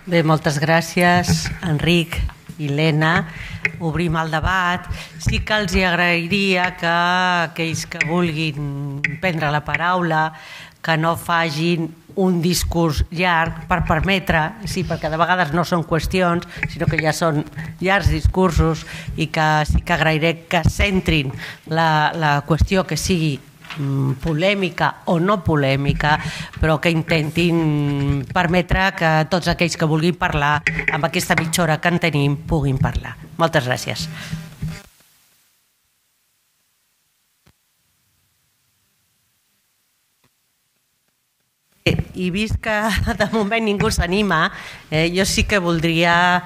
Bé, moltes gràcies, Enric i Lena. Obrim el debat. Sí que els agrairia que aquells que vulguin prendre la paraula que no facin un discurs llarg per permetre, sí, perquè de vegades no són qüestions, sinó que ja són llargs discursos, i que sí que agrairé que centrin la qüestió que sigui polèmica o no polèmica, però que intentin permetre que tots aquells que vulguin parlar amb aquesta mitja hora que en tenim puguin parlar. Moltes gràcies. I vist que de moment ningú s'anima, jo sí que voldria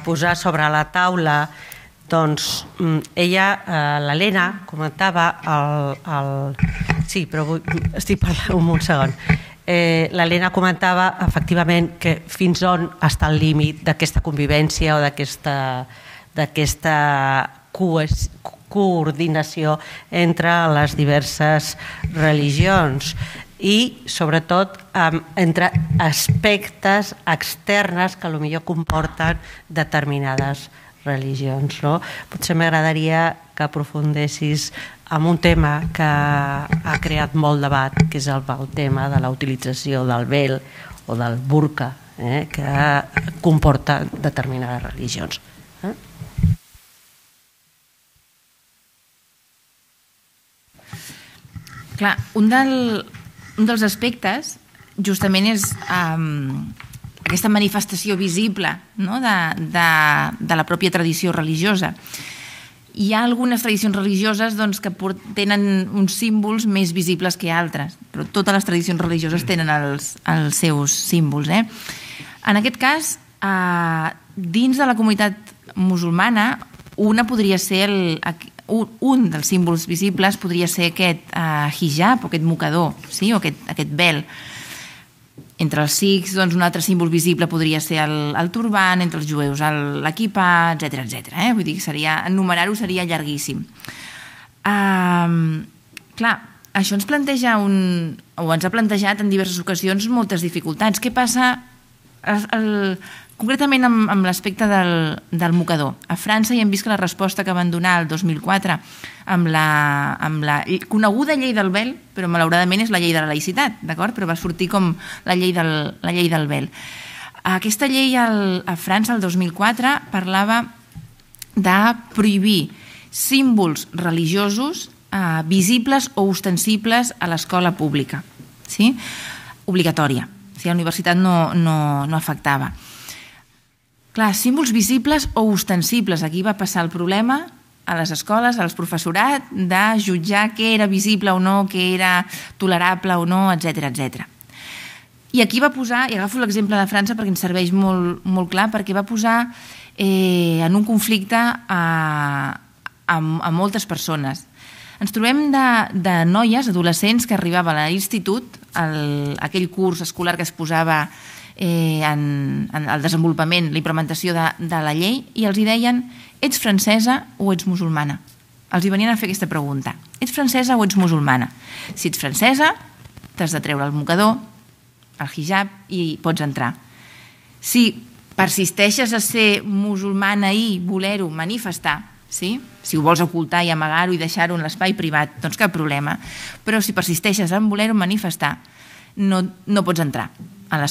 posar sobre la taula. Doncs ella, l'Helena, comentava sí, però estic parlant un segon. L'Helena comentava efectivament que fins on està el límit d'aquesta convivència o d'aquesta coordinació entre les diverses religions i sobretot entre aspectes externes que potser comporten determinades religions. Potser m'agradaria que aprofundessis en un tema que ha creat molt debat, que és el tema de la utilització del vel o del burca que comporta determinades religions. Clar, un dels aspectes justament és aquesta manifestació visible de la pròpia tradició religiosa. Hi ha algunes tradicions religioses que tenen uns símbols més visibles que altres, però totes les tradicions religioses tenen els seus símbols. En aquest cas, dins de la comunitat musulmana, un dels símbols visibles podria ser aquest hijab o aquest mocador, o aquest vel. Entre els sikhs, un altre símbol visible podria ser el turban, entre els jueus l'equipà, etc. Vull dir que enumerar-ho seria llarguíssim. Clar, això ens planteja o ens ha plantejat en diverses ocasions moltes dificultats. Què passa concretament amb l'aspecte del mocador? A França ja hem vist que la resposta que van donar el 2004 amb la coneguda llei del vel, però malauradament és la llei de la laïcitat, d'acord? Però va sortir com la llei del vel. Aquesta llei a França el 2004 parlava de prohibir símbols religiosos visibles o ostensibles a l'escola pública, obligatòria. A la universitat no afectava. Clar, símbols visibles o ostensibles. Aquí va passar el problema a les escoles, als professorat, de jutjar què era visible o no, què era tolerable o no, etc. I aquí va posar, i agafo l'exemple de França perquè ens serveix molt clar, perquè va posar en un conflicte a moltes persones. Ens trobem de noies, adolescents, que arribaven a l'institut, aquell curs escolar que es posava en el desenvolupament, la implementació de la llei, i els hi deien: ets francesa o ets musulmana? Els hi venien a fer aquesta pregunta: ets francesa o ets musulmana? Si ets francesa, t'has de treure el mocador, el hijab, i pots entrar. Si persisteixes a ser musulmana i voler-ho manifestar, si ho vols ocultar i amagar-ho i deixar-ho en l'espai privat, doncs cap problema. Però si persisteixes en voler-ho manifestar, no pots entrar a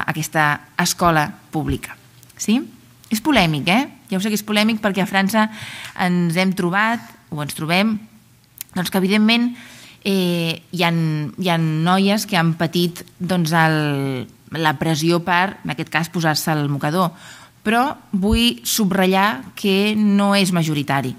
aquesta escola pública. És polèmic, ja ho sé que és polèmic, perquè a França ens hem trobat, o ens trobem, que evidentment hi ha noies que han patit la pressió per, en aquest cas, posar-se el mocador, però vull subratllar que no és majoritari.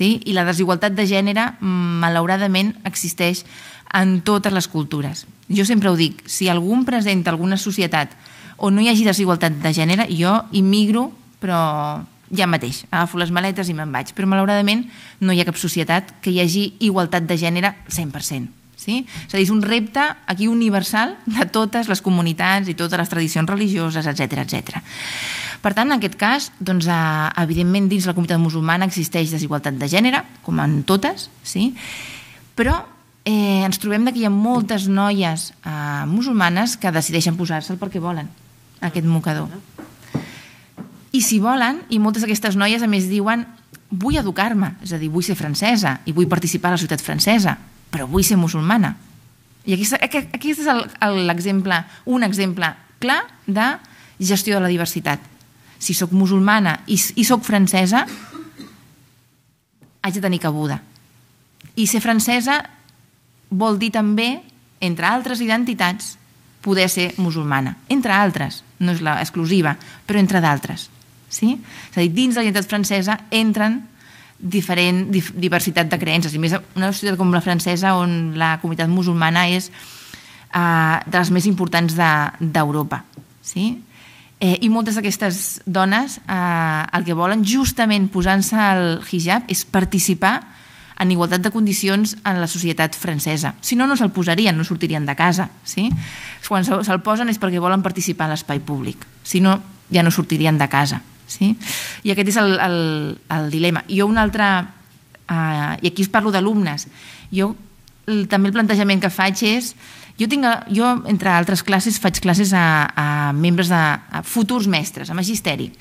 I la desigualtat de gènere, malauradament, existeix en totes les cultures. Jo sempre ho dic: si algú em presenta alguna societat on no hi hagi desigualtat de gènere, jo immigro, però ja mateix, agafo les maletes i me'n vaig. Però malauradament no hi ha cap societat que hi hagi igualtat de gènere 100%. És a dir, és un repte aquí universal de totes les comunitats i totes les tradicions religioses, etc. Per tant, en aquest cas, evidentment dins la comunitat musulmana existeix desigualtat de gènere, com en totes, però ens trobem que hi ha moltes noies musulmanes que decideixen posar-se'l perquè volen. aquest mocador. I si volen, i moltes d'aquestes noies a més diuen vull educar-me, és a dir, vull ser francesa i vull participar a la societat francesa, però vull ser musulmana. I aquí és l'exemple, un exemple clar de gestió de la diversitat. Si sóc musulmana i sóc francesa, haig de tenir cabuda. I ser francesa vol dir també, entre altres identitats, poder ser musulmana. Entre altres, no és l'exclusiva, però entre d'altres. Sí? És a dir, dins de la identitat francesa entren diferent diversitat de creences, i més una societat com la francesa on la comunitat musulmana és de les més importants d'Europa. Sí? I moltes d'aquestes dones el que volen justament posant-se el hijab és participar en igualtat de condicions en la societat francesa. Si no, no se'l posarien, no sortirien de casa. Sí? Quan se'l posen és perquè volen participar en l'espai públic. Si no, ja no sortirien de casa. Sí? I aquest és el dilema. Jo un altre, i aquí us parlo d'alumnes, jo també el plantejament que faig és, jo entre altres classes faig classes a membres a futurs mestres, a magisteri,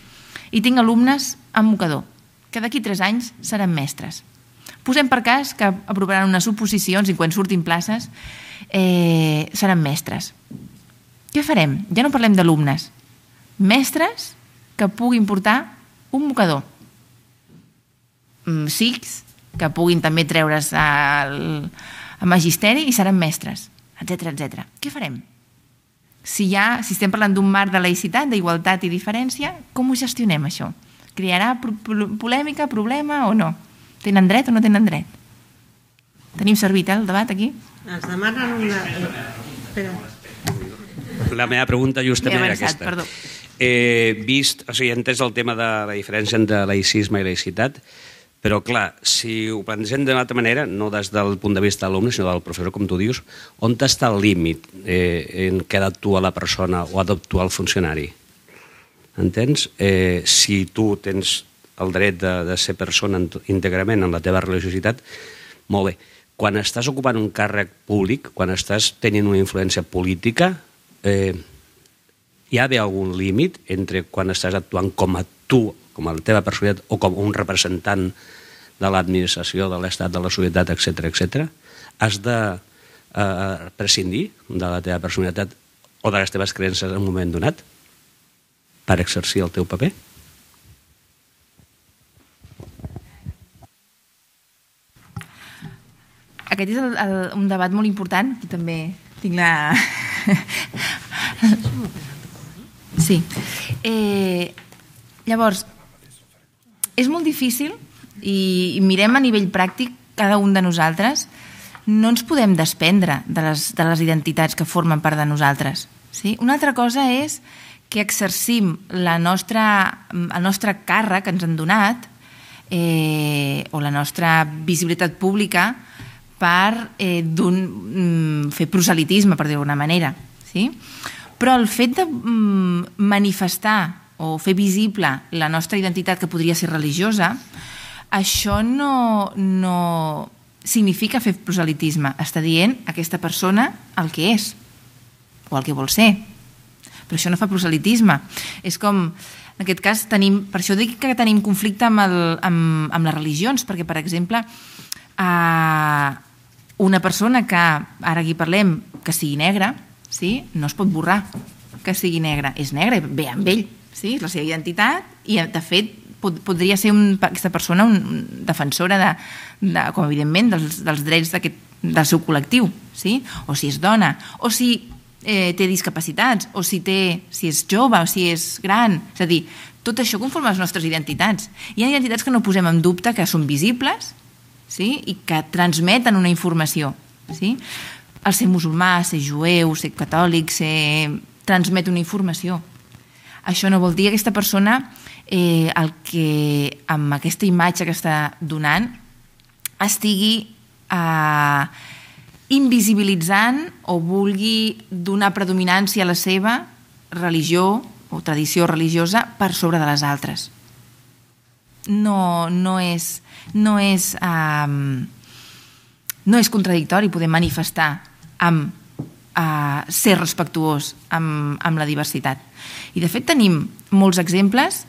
i tinc alumnes amb mocador, que d'aquí 3 anys seran mestres. Posem per cas que aprovaran unes oposicions i quan surtin places seran mestres. Què farem? Ja no parlem d'alumnes. Mestres que puguin portar un mocador. Sikhs que puguin també treure's al magisteri i seran mestres, etc. Què farem? Si estem parlant d'un marc de laïcitat, d'igualtat i diferència, com ho gestionem, això? Crearà polèmica, problema o no? Tenen dret o no tenen dret? Tenim servit, el debat aquí? Ens demanen una... Espera. La meva pregunta justament era aquesta. Perdó. He entès el tema de la diferència entre laïcisme i laïcitat, però clar, si ho plantegem d'una altra manera, no des del punt de vista de l'alumne, sinó del professor, com tu dius, on està el límit en què ha d'actuar la persona o ha d'actuar el funcionari? Entens? Si tu tens el dret de ser persona íntegrament en la teva religiositat, molt bé. Quan estàs ocupant un càrrec públic, quan estàs tenint una influència política, hi ha algun límit entre quan estàs actuant com a tu, com a la teva personalitat, o com un representant de l'administració, de l'Estat, de la societat, etc. Has de prescindir de la teva personalitat o de les teves creences en un moment donat per exercir el teu paper? Aquest és un debat molt important. Aquí també tinc la... Sí. Llavors, és molt difícil i mirem a nivell pràctic cada un de nosaltres, no ens podem desprendre de les identitats que formen part de nosaltres. Sí? Una altra cosa és que exercim el nostre càrrec que ens han donat o la nostra visibilitat pública per fer proselitisme, per dir-ho d'alguna manera. Sí? Però el fet de manifestar o fer visible la nostra identitat que podria ser religiosa, això no significa fer proselitisme. Està dient aquesta persona el que és o el que vol ser. Però això no fa proselitisme. És com, en aquest cas, per això dic que tenim conflicte amb les religions, perquè, per exemple, una persona que, ara aquí parlem, que sigui negra, sí? No es pot borrar que sigui negra. És negra, ve amb ell, sí? És la seva identitat i, de fet, podria ser aquesta persona una defensora com evidentment dels drets del seu col·lectiu, sí? O si és dona, o si té discapacitats, o si és jove, o si és gran. És a dir, tot això conforma les nostres identitats. Hi ha identitats que no posem en dubte, que són visibles, sí? I que transmeten una informació, sí? El ser musulmà, ser jueu, ser catòlic, transmet una informació. Això no vol dir que aquesta persona, amb aquesta imatge que està donant, estigui invisibilitzant o vulgui donar predominància a la seva religió o tradició religiosa per sobre de les altres. No és contradictori poder manifestar amb ser respectuós amb la diversitat. I de fet tenim molts exemples.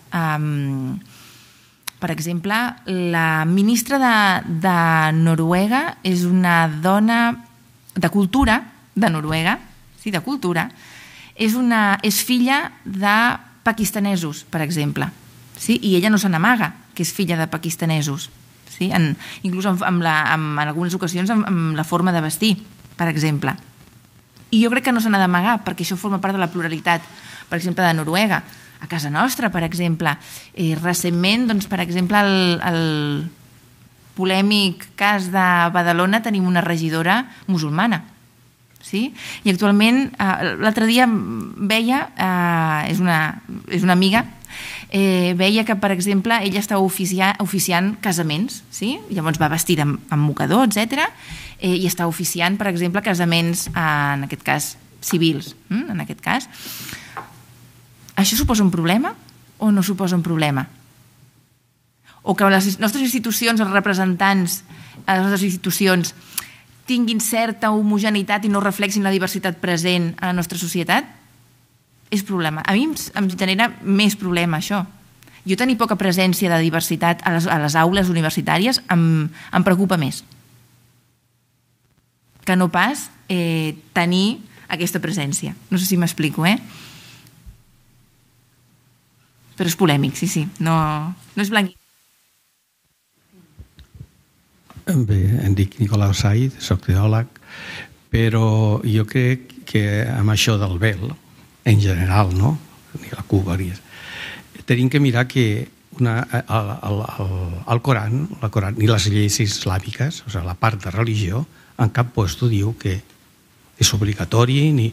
Per exemple, la ministra de Noruega és una dona de cultura, de Noruega, sí, de cultura, és filla de pakistanesos, per exemple, sí? I ella no se n'amaga que és filla de pakistanesos, sí? Inclús en algunes ocasions amb la forma de vestir, per exemple. I jo crec que no se n'ha d'amagar, perquè això forma part de la pluralitat, per exemple, de Noruega. A casa nostra, per exemple, recentment, doncs, per exemple, el polèmic cas de Badalona, tenim una regidora musulmana, sí? I actualment, l'altre dia veia, és una amiga, veia que, per exemple, ella estava oficiant casaments, sí? Llavors va vestida amb mocador, etc. I està oficiant, per exemple, casaments, en aquest cas, civils, en aquest cas. Això suposa un problema o no suposa un problema? O que les nostres institucions, els representants de les nostres institucions, tinguin certa homogeneïtat i no reflexin la diversitat present a la nostra societat? És problema. A mi em genera més problema, això. Jo tenir poca presència de diversitat a les aules universitàries em preocupa més que no pas tenir aquesta presència. No sé si m'explico, Però és polèmic, sí. No és blanc. Bé, em dic Nicolau Said, soc teòleg, però jo crec que amb això del vel, en general, no? Ni la Cuba, tenim que mirar que el Coran, ni les lleis islàmiques, o sigui, la part de religió, en cap lloc diu que és obligatori, ni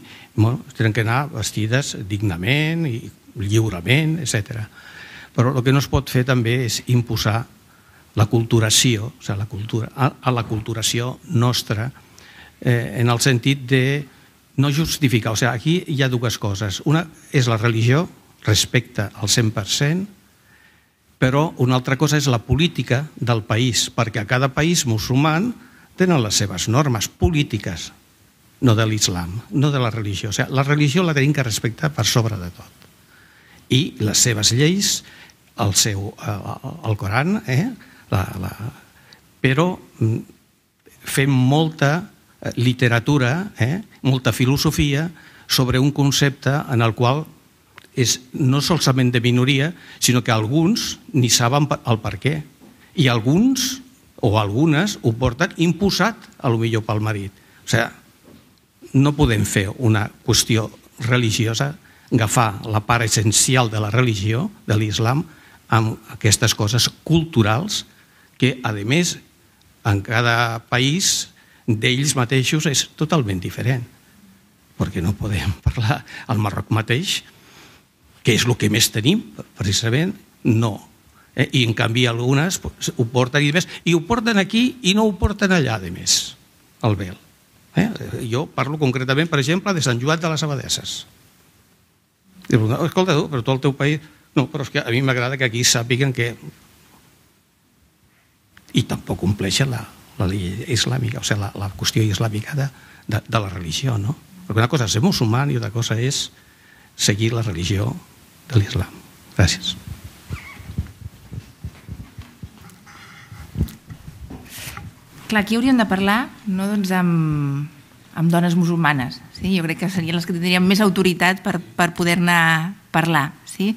tenen que anar vestides dignament i lliurement, etc. Però el que no es pot fer també és imposar la culturació, o sigui, la culturació nostra, en el sentit de no justificar. O sigui, aquí hi ha dues coses. Una és la religió, respecte al 100%, però una altra cosa és la política del país, perquè a cada país musulmà tenen les seves normes polítiques, no de l'islam, no de la religió. O sigui, la religió la tenim que respectar per sobre de tot. I les seves lleis, el Coran, però fem molta literatura, molta filosofia sobre un concepte en el qual és no solament de minoria, sinó que alguns ni saben el per què. I alguns o algunes ho porten imposat, potser pel marit. O sigui, no podem fer una qüestió religiosa, agafar la part essencial de la religió, de l'islam, amb aquestes coses culturals que, a més, en cada país d'ells mateixos és totalment diferent. Perquè no podem parlar al Marroc mateix, que és el que més tenim, precisament, no. I en canvi algunes ho porten i més, i ho porten aquí i no ho porten allà, a més, el vel. Jo parlo concretament, per exemple, de Sant Joan de les Abadesses. Escolta, però tu al teu país... No, però és que a mi m'agrada que aquí sàpiguen que... I tampoc compleixen la llei islàmica, o sigui, la qüestió islàmica de la religió, no? Perquè una cosa és ser musulmà i una cosa és seguir la religió de l'islam. Gràcies. Clar, aquí hauríem de parlar no, doncs, amb dones musulmanes. Sí? Jo crec que serien les que tindrien més autoritat per poder-ne parlar. Sí?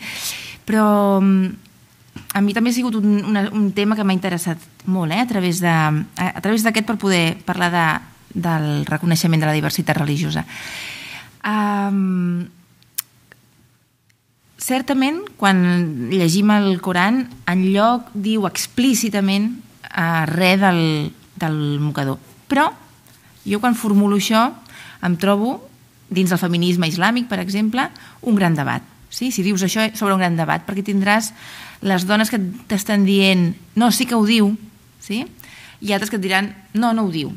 Però a mi també ha sigut un tema que m'ha interessat molt, a través d'aquest per poder parlar del reconeixement de la diversitat religiosa. Certament, quan llegim el Coran, enlloc diu explícitament res del mocador. Però jo quan formulo això em trobo, dins del feminisme islàmic, per exemple, un gran debat. Sí? Si dius això sobre un gran debat, perquè tindràs les dones que t'estan dient no, sí que ho diu, sí? I altres que et diran no, no ho diu.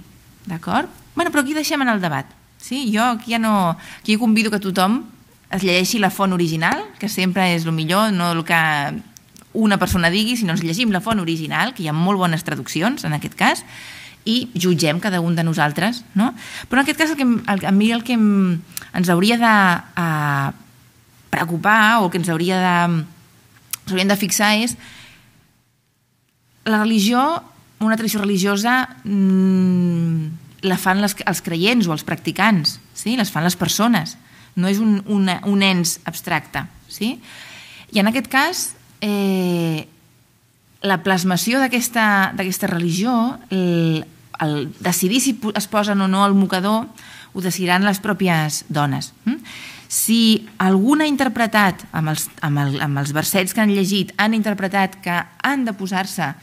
D'acord? Bueno, però aquí deixem en el debat. Sí? Jo aquí aquí convido que tothom es llegeixi la font original, que sempre és el millor, no el que una persona digui, sinó ens llegim la font original, que hi ha molt bones traduccions en aquest cas, i jutgem cada un de nosaltres, no? Però en aquest cas a mi el que ens hauria de preocupar o que ens hauríem de fixar és la religió, una tradició religiosa la fan els creients o els practicants, sí? Les fan les persones, no és un ens abstracte, sí? I en aquest cas la plasmació d'aquesta religió, el decidir si es posen o no al mocador, ho decidiran les pròpies dones. Si algú ha interpretat, amb els versets que han llegit, han interpretat que han de posar-se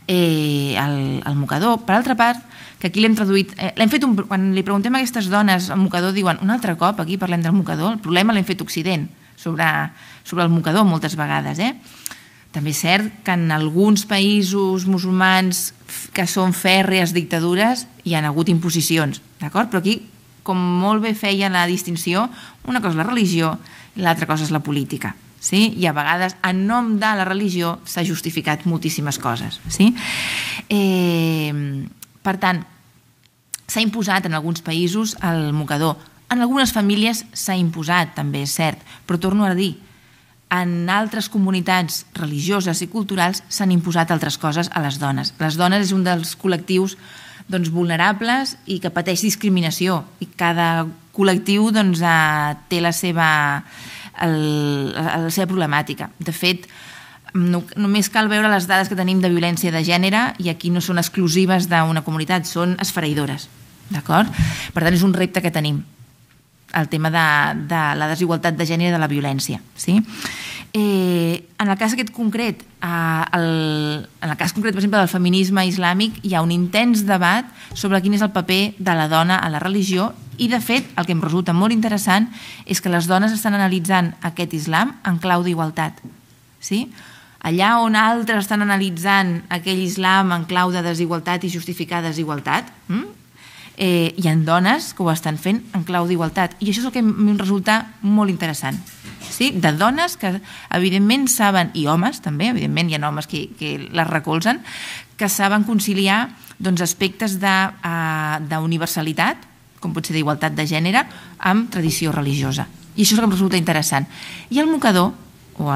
al mocador, per altra part, que aquí l'hem traduït, quan li preguntem a aquestes dones al mocador, diuen, un altre cop aquí parlem del mocador, el problema l'hem fet Occident, sobre el mocador moltes vegades, També és cert que en alguns països musulmans que són fèrrees dictadures hi ha hagut imposicions, d'acord? Però aquí, com molt bé feia la distinció, una cosa és la religió i l'altra cosa és la política. Sí? I a vegades, en nom de la religió, s'ha justificat moltíssimes coses. Sí? Per tant, s'ha imposat en alguns països el mocador. En algunes famílies s'ha imposat, també és cert, però torno a dir, en altres comunitats religioses i culturals s'han imposat altres coses a les dones. Les dones és un dels col·lectius vulnerables i que pateix discriminació, i cada col·lectiu té la seva problemàtica. De fet, només cal veure les dades que tenim de violència de gènere, i aquí no són exclusives d'una comunitat, són esfereïdores. D'acord? Per tant, és un repte que tenim, el tema de la desigualtat de gènere i de la violència. Sí? En el cas aquest concret, per exemple, del feminisme islàmic, hi ha un intens debat sobre quin és el paper de la dona a la religió, i de fet el que em resulta molt interessant és que les dones estan analitzant aquest islam en clau d'igualtat. Sí? Allà on altres estan analitzant aquell islam en clau de desigualtat i justificar desigualtat, hi ha dones que ho estan fent en clau d'igualtat, i això és el que em resulta molt interessant, sí? De dones que evidentment saben, i homes també, evidentment hi ha homes que les recolzen, que saben conciliar aspectes d'universalitat, com pot ser d'igualtat de gènere, amb tradició religiosa, i això és el que em resulta interessant. I el mocador, o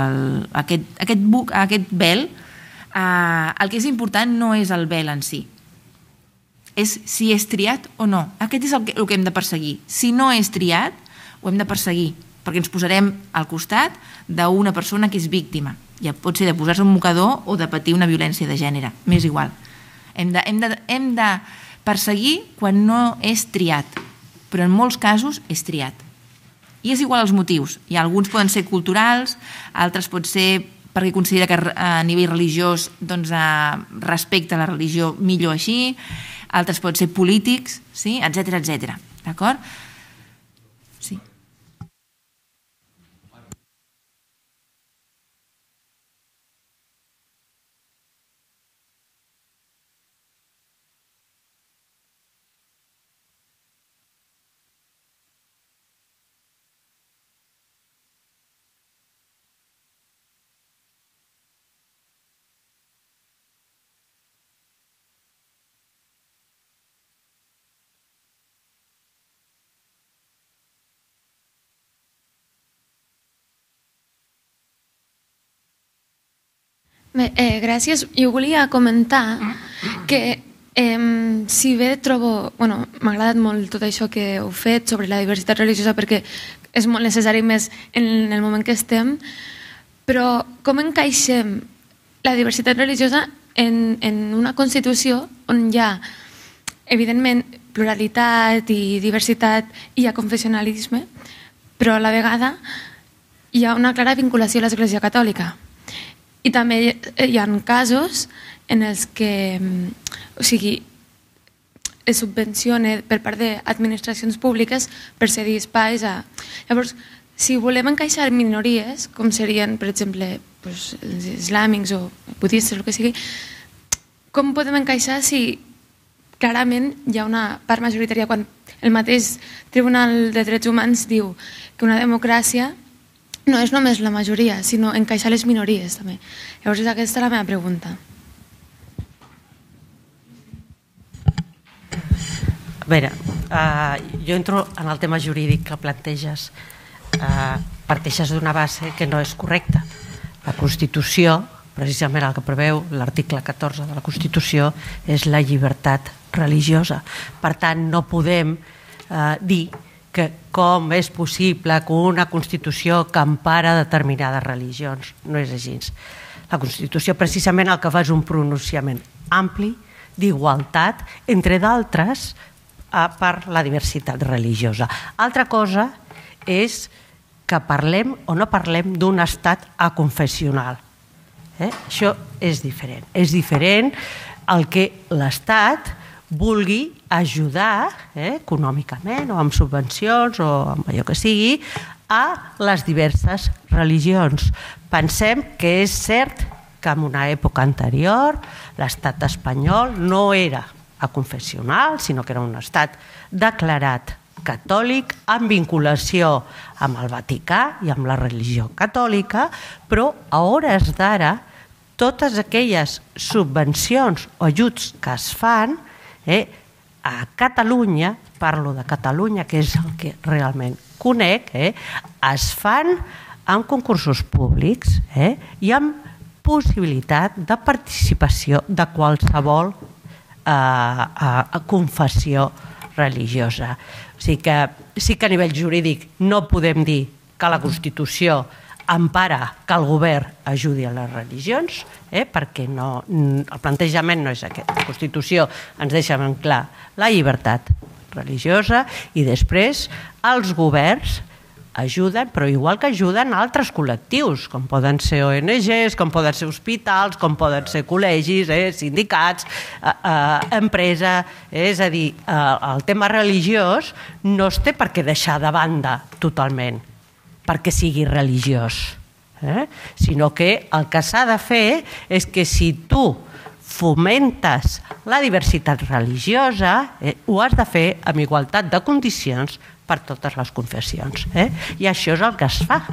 aquest vel, el que és important no és el vel en si, és si és triat o no. Aquest és el que hem de perseguir. Si no és triat, ho hem de perseguir, perquè ens posarem al costat d'una persona que és víctima. Ja pot ser de posar-se un mocador o de patir una violència de gènere. M'és igual. Hem de perseguir quan no és triat, però en molts casos és triat. I és igual els motius. I alguns poden ser culturals, altres pot ser perquè considera que a nivell religiós respecta la religió millor així, altres poden ser polítics, sí? Etcètera, etcètera. D'acord? Sí. Bé, gràcies. Jo volia comentar que si bé trobo... m'ha agradat molt tot això que heu fet sobre la diversitat religiosa, perquè és molt necessari més en el moment que estem, però com encaixem la diversitat religiosa en una Constitució on hi ha, evidentment, pluralitat i diversitat i hi ha confessionalisme, però a la vegada hi ha una clara vinculació a l'Església Catòlica. I també hi ha casos en els que es subvenciona per part d'administracions públiques per cedir espais a... Llavors, si volem encaixar minories, com serien, per exemple, els islàmics o budistes o el que sigui, com podem encaixar si clarament hi ha una part majoritària quan el mateix Tribunal de Drets Humans diu que una democràcia no és només la majoria, sinó encaixar les minories també. Llavors, aquesta és la meva pregunta. veure, jo entro en el tema jurídic que planteges. Parteixes d'una base que no és correcta. La Constitució, precisament el que preveu l'article 14 de la Constitució, és la llibertat religiosa. Per tant, no podem dir que com és possible que una Constitució que empara determinades religions. No és així. La Constitució precisament el que fa és un pronunciament ampli d'igualtat, entre d'altres, per la diversitat religiosa. Altra cosa és que parlem o no parlem d'un estat aconfessional. Això és diferent. És diferent el que l'Estat vulgui ajudar econòmicament o amb subvencions o amb allò que sigui a les diverses religions. Pensem que és cert que en una època anterior l'estat espanyol no era aconfessional, sinó que era un estat declarat catòlic amb vinculació amb el Vaticà i amb la religió catòlica, però a hores d'ara totes aquelles subvencions o ajuts que es fan a Catalunya, parlo de Catalunya, que és el que realment conec, es fan amb concursos públics i amb possibilitat de participació de qualsevol confessió religiosa. O sigui que sí que a nivell jurídic no podem dir que la Constitució empara que el govern ajudi a les religions, perquè el plantejament no és aquest. La Constitució ens deixa ben clar la llibertat religiosa i després els governs ajuden, però igual que ajuden altres col·lectius, com poden ser ONGs, com poden ser hospitals, com poden ser col·legis, sindicats, empresa. És a dir, el tema religiós no es té per què deixar de banda totalment perquè sigui religiós, sinó que el que s'ha de fer és que si tu fomentes la diversitat religiosa, ho has de fer amb igualtat de condicions per totes les confessions. I això és el que es fa.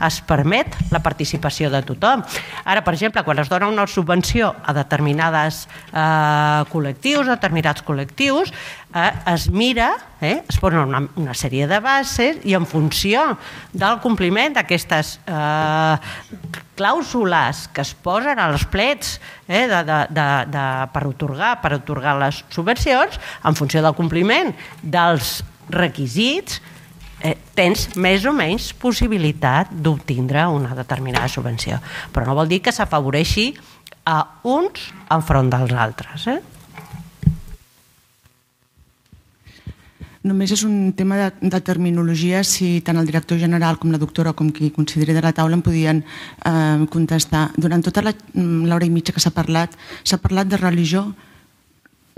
Es permet la participació de tothom. Ara, per exemple, quan es dona una subvenció a determinats col·lectius, es mira, es posen una sèrie de bases i en funció del compliment d'aquestes clàusules que es posen als plets per atorgar les subvencions, en funció del compliment dels requisits, tens més o menys possibilitat d'obtindre una determinada subvenció. Però no vol dir que s'afavoreixi a uns enfront dels altres. Només és un tema de terminologia, si tant el director general com la doctora com qui consideri de la taula em podien contestar. Durant tota l'hora i mitja que s'ha parlat de religió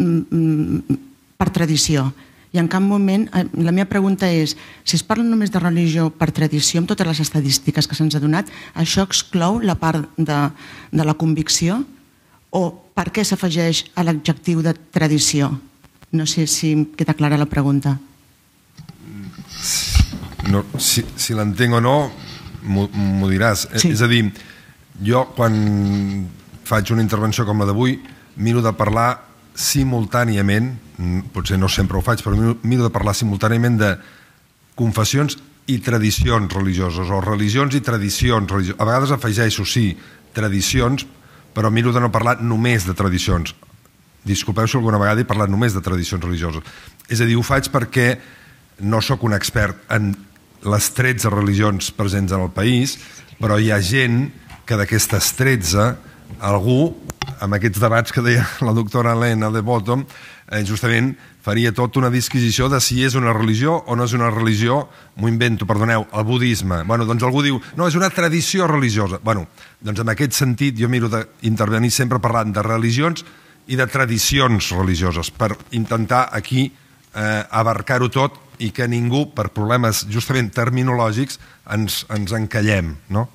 per tradició. I en cap moment, la meva pregunta és, si es parla només de religió per tradició, amb totes les estadístiques que se'ns ha donat, això exclou la part de la convicció? O per què s'afegeix a l'adjectiu de tradició? No sé si queda clara la pregunta. Si l'entenc o no, m'ho diràs. És a dir, jo quan faig una intervenció com la d'avui, miro de parlar simultàniament, potser no sempre ho faig, però miro de parlar simultàniament de confessions i tradicions religioses, o religions i tradicions religioses. A vegades afegeixo, sí, tradicions, però miro de no parlar només de tradicions. Disculpeu si alguna vegada he parlat només de tradicions religioses. És a dir, ho faig perquè no sóc un expert en les 13 religions presents en el país, però hi ha gent que d'aquestes 13, algú, amb aquests debats que deia la doctora Helena de Bottom, justament faria tota una disquisició de si és una religió o no és una religió. M'ho invento, perdoneu, el budisme. Doncs algú diu, no, és una tradició religiosa. Doncs en aquest sentit jo miro d'intervenir sempre parlant de religions i de tradicions religioses per intentar aquí abarcar-ho tot i que ningú, per problemes justament terminològics, ens encallem, no?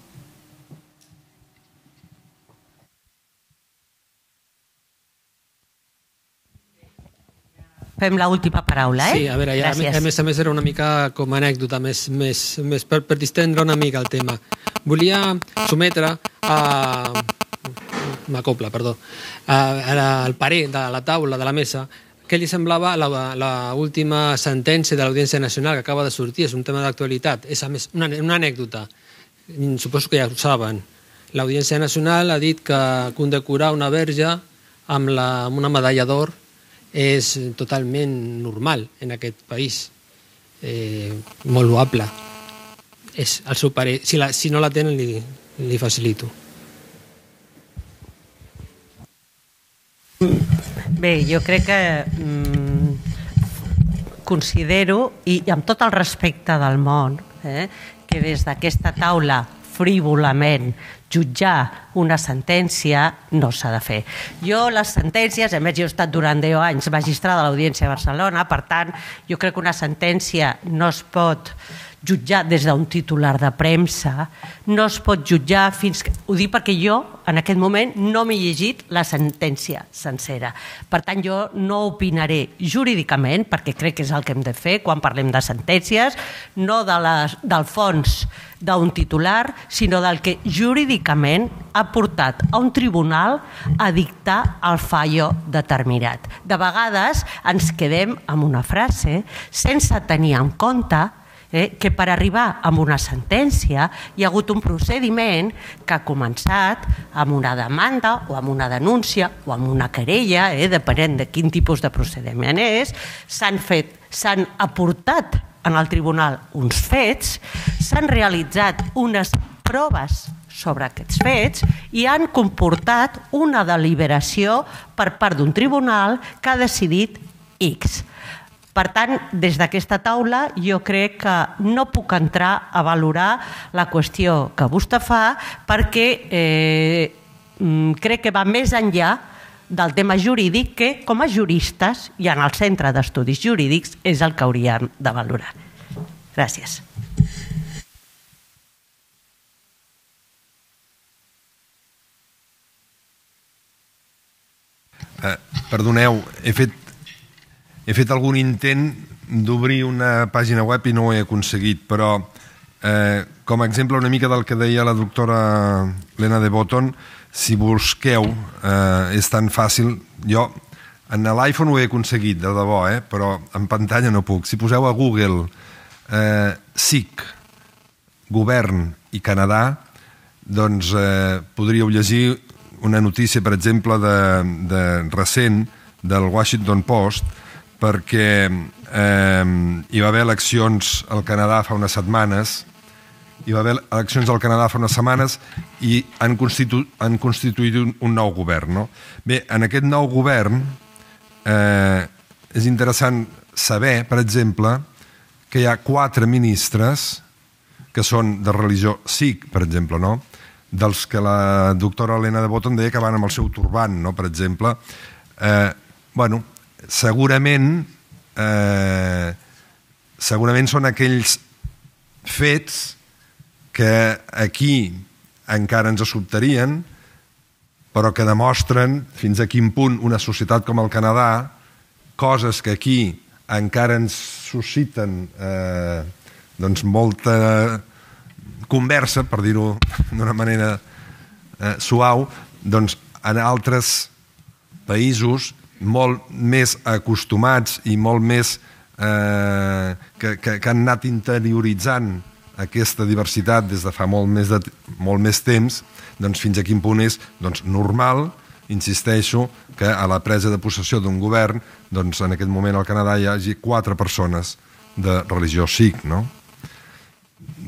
Fem l'última paraula, Sí, a veure, ja, a més era una mica com a anècdota, més per distendre una mica el tema. Volia sometre al parer de la taula, de la mesa, què li semblava l'última sentència de l'Audiència Nacional que acaba de sortir. És un tema d'actualitat. És, a més, una anècdota. Suposo que ja ho saben. L'Audiència Nacional ha dit que condecorar una verge amb una medalla d'or és totalment normal en aquest país. Molt loable. És el seu parer. Si no la tenen, li facilito. Bé, jo crec que considero, i amb tot el respecte del món, que des d'aquesta taula frívolament jutjar una sentència no s'ha de fer. Jo les sentències, a més jo he estat durant 10 anys magistrada de l'Audiència de Barcelona, per tant jo crec que una sentència no es pot jutjar des d'un titular de premsa, no es pot jutjar fins que... Ho dic perquè jo, en aquest moment, no m'he llegit la sentència sencera. Per tant, jo no opinaré jurídicament, perquè crec que és el que hem de fer quan parlem de sentències, no del fons d'un titular, sinó del que jurídicament ha portat a un tribunal a dictar el fallo determinat. De vegades ens quedem amb una frase sense tenir en compte que per arribar a una sentència hi ha hagut un procediment que ha començat amb una demanda o amb una denúncia o amb una querella, depenent de quin tipus de procediment és, s'han aportat en el tribunal uns fets, s'han realitzat unes proves sobre aquests fets i han comportat una deliberació per part d'un tribunal que ha decidit X. Per tant, des d'aquesta taula jo crec que no puc entrar a valorar la qüestió que vostè fa perquè crec que va més enllà del tema jurídic que com a juristes i en el Centre d'Estudis Jurídics és el que hauríem de valorar. Gràcies. Perdoneu, he fet algun intent d'obrir una pàgina web i no ho he aconseguit, però com a exemple una mica del que deia la doctora Lena de Botton, si busqueu, és tan fàcil, jo en l'iPhone ho he aconseguit, de debò, però en pantalla no puc. Si poseu a Google SIC, govern i Canadà, doncs podríeu llegir una notícia, per exemple, de recent del Washington Post, perquè hi va haver eleccions al Canadà fa unes setmanes, i han constituït un nou govern. No? Bé, en aquest nou govern és interessant saber, per exemple, que hi ha 4 ministres que són de religió sikh, per exemple, no? Dels que la doctora Helena de Botton deia que van amb el seu turbant, no? Per exemple. Bueno, segurament són aquells fets que aquí encara ens sobtarien, però que demostren fins a quin punt una societat com el Canadà, coses que aquí encara ens susciten molta conversa, per dir-ho d'una manera suau, doncs en altres països molt més acostumats i molt més que han anat interioritzant aquesta diversitat des de fa molt més temps, doncs fins a quin punt és normal, insisteixo, que a la presa de possessió d'un govern, doncs en aquest moment al Canadà hi hagi 4 persones de religió sikh, no?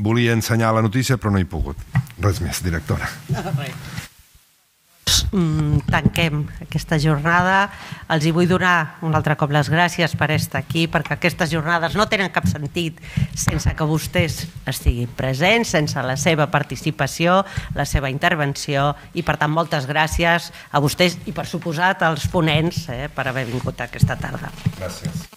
Volia ensenyar la notícia, però no he pogut. Res més, directora. Tanquem aquesta jornada. Els hi vull donar un altre cop les gràcies per estar aquí, perquè aquestes jornades no tenen cap sentit sense que vostès estiguin presents, sense la seva participació, la seva intervenció, i per tant moltes gràcies a vostès i per suposat als ponents per haver vingut aquesta tarda. Gràcies.